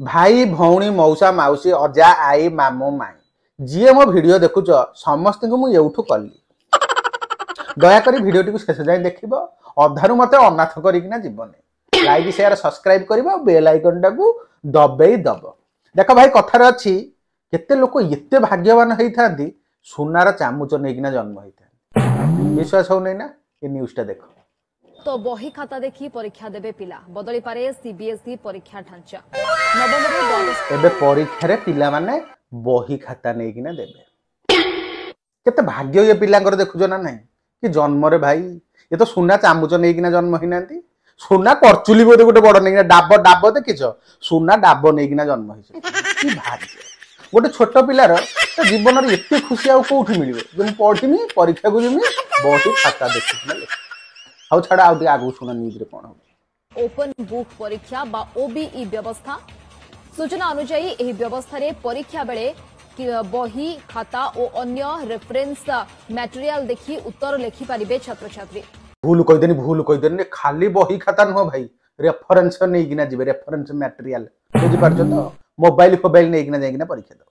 ଭାଇ ଭଉଣୀ ମଉସା ମାଉସୀ ଅଜା ଆଈ ମାମୁଁ ମାଇଁ ଯିଏ ମୋ ଭିଡ଼ିଓ ଦେଖୁଛ ସମସ୍ତଙ୍କୁ ମୁଁ ଏଉଠୁ କଲି। ଦୟାକରି ଭିଡ଼ିଓଟିକୁ ଶେଷ ଯାଏଁ ଦେଖିବ, ଅଧାରୁ ମତେ ଅନାଥ କରିକିନା ଯିବନି। ଲାଇକ୍ ସେୟାର ସବସ୍କ୍ରାଇବ କରିବ ଆଉ ବେଲ୍ ଆଇକନଟାକୁ ଦବେଇ ଦବ। ଦେଖ ଭାଇ, କଥାରେ ଅଛି କେତେ ଲୋକ ଏତେ ଭାଗ୍ୟବାନ ହେଇଥାନ୍ତି, ସୁନାର ଚାମୁଚ ନେଇକିନା ଜନ୍ମ ହେଇଥାନ୍ତି। ବିଶ୍ୱାସ ହଉନାହିଁ ନା? ଏ ନ୍ୟୁଜଟା ଦେଖ। ତ ବହି ଖାତା ଦେଖି ପରୀକ୍ଷା ଦେବେ ପିଲା, ବଦଳିପାରେ ସିବିଏସ୍ଇ ପରୀକ୍ଷା ଢାଞ୍ଚା। ନବମରୁ ଦ୍ୱାଦଶ ଏବେ ପରୀକ୍ଷାରେ ପିଲାମାନେ ବହି ଖାତା ନେଇକିନା ଦେବେ। କେତେ ଭାଗ୍ୟ ଇଏ ପିଲାଙ୍କର, ଦେଖୁଛ ନା ନାହିଁ? କି ଜନ୍ମରେ ଭାଇ, ଏ ତ ସୁନା ଚାମୁଚ ନେଇକିନା ଜନ୍ମ ହେଇନାହାନ୍ତି, ସୁନା କରଚୁଲି ବୋଧେ ଗୋଟେ ବଡ ନେଇକିନା, ଡାବ ଡାବ ଦେଖିଛ, ସୁନା ଡାବ ନେଇକିନା ଜନ୍ମ ହେଇছে। କି ଭାଗ୍ୟ ଗୋଟେ ଛୋଟ ପିଲାର, ତା ଜୀବନରେ ଏତେ ଖୁସି ଆଉ କୋଉଠି ମିଳିବ ଯେ ମୁଁ ପଢିମି, ପରୀକ୍ଷାକୁ ଯିମି, ବହି ଖାତା ଦେଖିକିନା ଲେଖିବି। ହଉ ଛାଡ, ଆଉ ଟିକେ ଆଗକୁ ଶୁଣ ନ୍ୟୁଜରେ କଣ ହଉଛି। ଓପନ ବୁକ୍ ପରୀକ୍ଷା ବା ଓବିଇ ବ୍ୟବସ୍ଥା। ସୂଚନା ଅନୁଯାୟୀ ଏହି ବ୍ୟବସ୍ଥାରେ ପରୀକ୍ଷା ବେଳେ ବହି ଖାତା ଓ ଅନ୍ୟ ରେଫରେନ୍ସ ମ୍ୟାଟେରିଆଲ ଦେଖି ଉତ୍ତର ଲେଖିପାରିବେ ଛାତ୍ରଛାତ୍ରୀ। ଭୁଲ କହିଦେନି, ଭୁଲ କହିଦେନି। ଖାଲି ବହି ଖାତା ନୁହଁ ଭାଇ, ରେଫରେନ୍ସ ନେଇକିନା ଯିବେ, ରେଫରେନ୍ସ ମ୍ୟାଟେରିଆଲ, ବୁଝିପାରୁଛ ତ? ମୋବାଇଲ ଫୋବାଇଲ ନେଇକିନା ଯାଇକିନା ପରୀକ୍ଷା ଦେବ।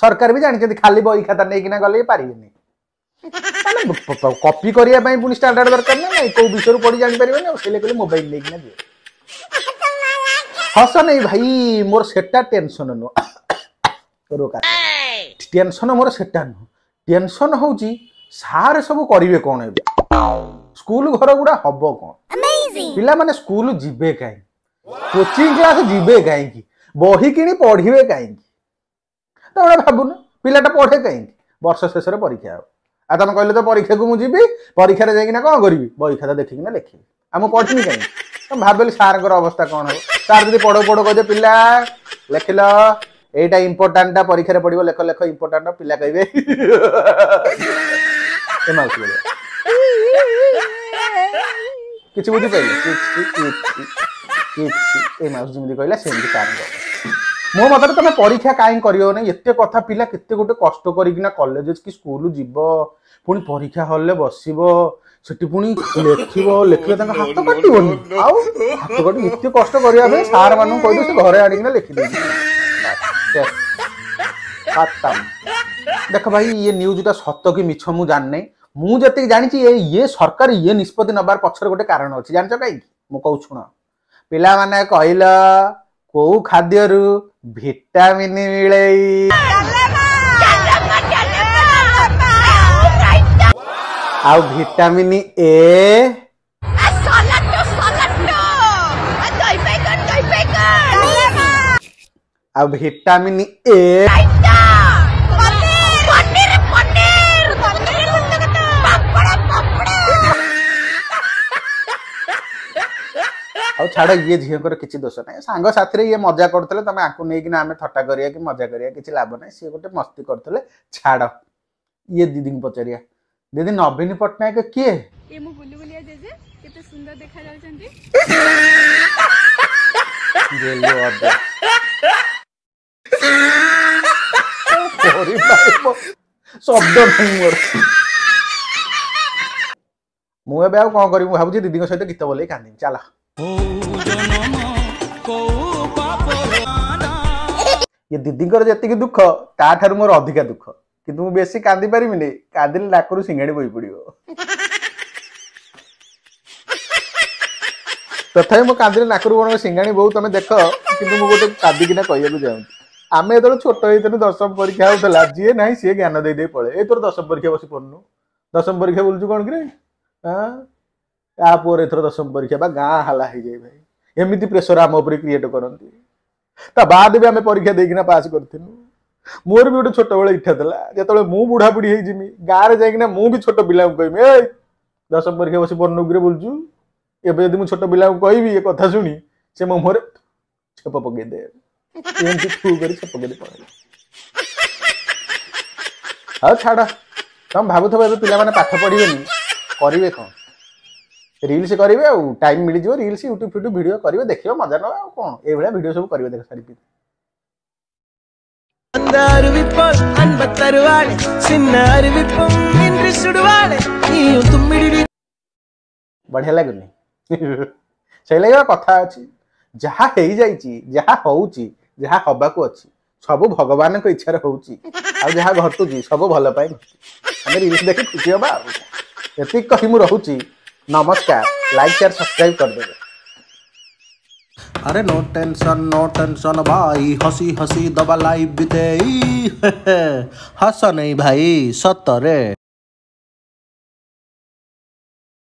ସରକାର ବି ଜାଣିଛନ୍ତି ଖାଲି ବହି ଖାତା ନେଇକିନା ଗଲେ ପାରିବେନି। ମାନେ କପି କରିବା ପାଇଁ ପୁଣି ଷ୍ଟାଣ୍ଡାର୍ଡ ଦରକାର ନା ନାଇଁ? କୋଉ ବିଷୟରୁ ପଢି ଜାଣିପାରିବେନି, ଆଉ ସେଇ କହିଲେ ମୋବାଇଲ ନେଇକିନା ଯିବେ। ହସ ନାଇଁ ଭାଇ, ମୋର ସେଟା ଟେନସନ ନୁହଁ। ଟେନସନ ମୋର ସେଟା ନୁହଁ। ଟେନସନ ହଉଛି ସାର୍ ସବୁ କରିବେ କଣ ଏବେ? ସ୍କୁଲ ଘର ଗୁଡା ହବ କଣ? ପିଲାମାନେ ସ୍କୁଲ ଯିବେ କାହିଁକି? କୋଚିଂ କ୍ଲାସ ଯିବେ କାହିଁକି? ବହି କିଣି ପଢିବେ କାହିଁକି? ତମେ ଭାବୁନ, ପିଲାଟା ପଢେ କାହିଁକି? ବର୍ଷ ଶେଷରେ ପରୀକ୍ଷା ହବ, ଆଉ ତମେ କହିଲେ ତ ପରୀକ୍ଷାକୁ ମୁଁ ଯିବି, ପରୀକ୍ଷାରେ ଯାଇକିନା କଣ କରିବି? ବହି ଖାତା ଦେଖିକିନା ଲେଖିବି, ଆଉ ମୁଁ ପଢିବି କାହିଁକି? ତମେ ଭାବିଲି ସାରଙ୍କର ଅବସ୍ଥା କଣ ହବ? ସାର୍ ଯଦି ପଢଉ ପଢଉ କହିବେ, ପିଲା ଲେଖିଲ, ଏଇଟା ଇମ୍ପୋର୍ଟାଣ୍ଟଟା ପରୀକ୍ଷାରେ ପଡିବ, ଲେଖ ଲେଖ ଇମ୍ପୋର୍ଟାଣ୍ଟ, ପିଲା କହିବେ ଏ ମାଉସୀ ଭଳିଆ। କିଛି ବୁଝିପାରିଲେ? କିଛି କିଛି କିଛି। ଏ ମାଉସୀ ଯେମିତି କହିଲା ସେମିତି ସାରଙ୍କ। ମୋ ମତରେ ତମେ ପରୀକ୍ଷା କାହିଁ କରିବ ନାହିଁ? ଏତେ କଥା, ପିଲା କେତେ ଗୋଟେ କଷ୍ଟ କରିକିନା କଲେଜ କି ସ୍କୁଲ ଯିବ, ପୁଣି ପରୀକ୍ଷା ହଲରେ ବସିବ, ସେଠି ପୁଣି ଲେଖିବ। ଲେଖିଲେ ତାଙ୍କ ହାତ କାଟିବନି? ଆଉ ହାତ କାଟି ଏତେ କଷ୍ଟ କରିବା ପାଇଁ ସାର୍ ମାନଙ୍କୁ କହିଦେଉ, ସେ ଘରେ ଆଣିକିନା ଲେଖିଦେଇଛି। ଦେଖ ଭାଇ, ଇଏ ନ୍ୟୁଜଟା ସତ କି ମିଛ ମୁଁ ଜାଣିନାହିଁ। ମୁଁ ଯେତିକି ଜାଣିଛି, ଏ ଇଏ ସରକାର ଇଏ ନିଷ୍ପତ୍ତି ନେବାର ପଛରେ ଗୋଟେ କାରଣ ଅଛି। ଜାଣିଛ କାହିଁକି? ମୁଁ କହୁଛି ଶୁଣ। ପିଲାମାନେ କହିଲ, କୋଉ ଖାଦ୍ୟରୁ ଭିଟାମିନ ମିଳେ? ଆଉ ଭିଟାମିନ ଏ, ଆଉ ଭିଟାମିନ ଏ, ଆଉ ଛାଡ଼, ଇଏ ଝିଅଙ୍କର କିଛି ଦୋଷ ନାହିଁ। ସାଙ୍ଗ ସାଥିରେ ଇଏ ମଜା କରୁଥିଲେ। ତମେ ଆକୁ ନେଇକିନା ଆମେ ଥଟ୍ଟା କରିବା କି ମଜା କରିବା କିଛି ଲାଭ ନାହିଁ। ସିଏ ଗୋଟେ ମସ୍ତି କରୁଥିଲେ, ଛାଡ଼। ଇଏ ଦିଦିଙ୍କୁ ପଚାରିବା। ଦିଦି, ନବୀନ ପଟ୍ଟନାୟକ କିଏ? ଏ ମୁଁ ବୁଲି ବୁଲିଆ ଜେଜେ, କେତେ ସୁନ୍ଦର ଦେଖା ଯାଉଛନ୍ତି। ଗେଲୁ ଅଜା କରିପାରିବ, ଶବ୍ଦ ନାହିଁ ମୋର। ମୁଁ ଏବେ ଆଉ କଣ କରିବି? ମୁଁ ଭାବୁଛି ଦିଦିଙ୍କ ସହିତ ଗୀତ ବୋଲେଇ କାନ୍ଦିବି। ଚାଲ। ଇଏ ଦିଦିଙ୍କର ଯେତିକି ଦୁଃଖ, ତାଠାରୁ ମୋର ଅଧିକା ଦୁଃଖ। କିନ୍ତୁ ମୁଁ ବେଶୀ କାନ୍ଦି ପାରିବିନି, କାନ୍ଦିଲେ ନାକରୁ ସିଙ୍ଗାଣି ବୋହି ପଡିବ। ତଥାପି ମୁଁ କାନ୍ଦିଲେ ନାକରୁ କଣ ସିଙ୍ଗାଣି ବୋଉ, ତମେ ଦେଖ। କିନ୍ତୁ ମୁଁ ଗୋଟେ କାନ୍ଦିକିନା କହିବାକୁ ଚାହୁଁଛି। ଆମେ ଯେତେବେଳେ ଛୋଟ ହେଇଥିଲୁ, ଦଶମ ପରୀକ୍ଷା ହଉଥିଲା, ଯିଏ ନାହିଁ ସିଏ ଜ୍ଞାନ ଦେଇ ଦେଇ ପଳେଇ, ଏ ତୋର ଦଶମ ପରୀକ୍ଷା ବସି ପଢୁନୁ, ଦଶମ ପରୀକ୍ଷା ବୁଲୁଛୁ କଣ କିରେ? ହଁ, ତା ପୁଅର ଏଥର ଦଶମ ପରୀକ୍ଷା ବା, ଗାଁ ହାଲା ହେଇଯାଏ ଭାଇ। ଏମିତି ପ୍ରେସର ଆମ ଉପରେ କ୍ରିଏଟ କରନ୍ତି। ତା ବାଦ ବି ଆମେ ପରୀକ୍ଷା ଦେଇକିନା ପାସ୍ କରିଥିଲୁ। ମୋର ବି ଗୋଟେ ଛୋଟବେଳେ ଇଚ୍ଛା ଥିଲା, ଯେତେବେଳେ ମୁଁ ବୁଢା ବୁଢୀ ହେଇଯିମି, ଗାଁରେ ଯାଇକିନା ମୁଁ ବି ଛୋଟ ପିଲାଙ୍କୁ କହିବି, ଏ ଦଶମ ପରୀକ୍ଷା ବସି ପଢୁନୁ ବୁଲୁଛୁ। ଏବେ ଯଦି ମୁଁ ଛୋଟ ପିଲାଙ୍କୁ କହିବି, ଏ କଥା ଶୁଣି ସେ ମୋ ମୁହଁରେ ଛେପ ପକେଇଦେବେ, ଏମିତି ଥୁ କରି ଛେପ ପକେଇ ପଳେଇବେ। ଆଉ ଛାଡ, ତମେ ଭାବୁଥିବ ଏବେ ପିଲାମାନେ ପାଠ ପଢିବେନି, କରିବେ କଣ? ରିଲ୍ସ କରିବେ। ଆଉ ଟାଇମ୍ ମିଳିଯିବ, ରିଲ୍ସ ୟୁଟ୍ୟୁବ ଫ୍ୟୁଟ୍ୟୁବ ଭିଡ଼ିଓ କରିବେ, ଦେଖିବ, ମଜା ନେବା, ଆଉ କଣ? ଏଇଭଳିଆ ଭିଡ଼ିଓ ସବୁ କରିବେ। ଦେଖ ସାରି அந்த அறிவிப்பாள் அன்ப தருவாளே, சின்ன அறிவிப்பும் இன்றி சுடுவாளே, நீயும் தும்மிடி। ବଢିଆ ଲାଗୁନି? ସେଇ ଲାଗି କଥା ଅଛି, ଯାହା ହେଇଯାଇଛି, ଯାହା ହଉଛି, ଯାହା ହବାକୁ ଅଛି ସବୁ ଭଗବାନଙ୍କ ଇଚ୍ଛାରେ ହଉଛି, ଆଉ ଯାହା ଘଟୁଛି ସବୁ ଭଲ ପାଇଁ ଘଟୁଛି। ଆମେ ରିଲ୍ସ ଦେଖି ଖୁସି ହବା। ଆଉ ଏତିକି କହି ମୁଁ ରହୁଛି, ନମସ୍କାର। ଲାଇକ୍, ସେୟାର, ସବସ୍କ୍ରାଇବ କରିଦେବେ। ଆରେ ନୋ ଟେନସନ, ନୋ ଟେନସନ ଭାଇ, ହସି ହସି ଦବା ଲାଇଫ ବିତେଇ। ହସ ନେଇ ଭାଇ ସତରେ।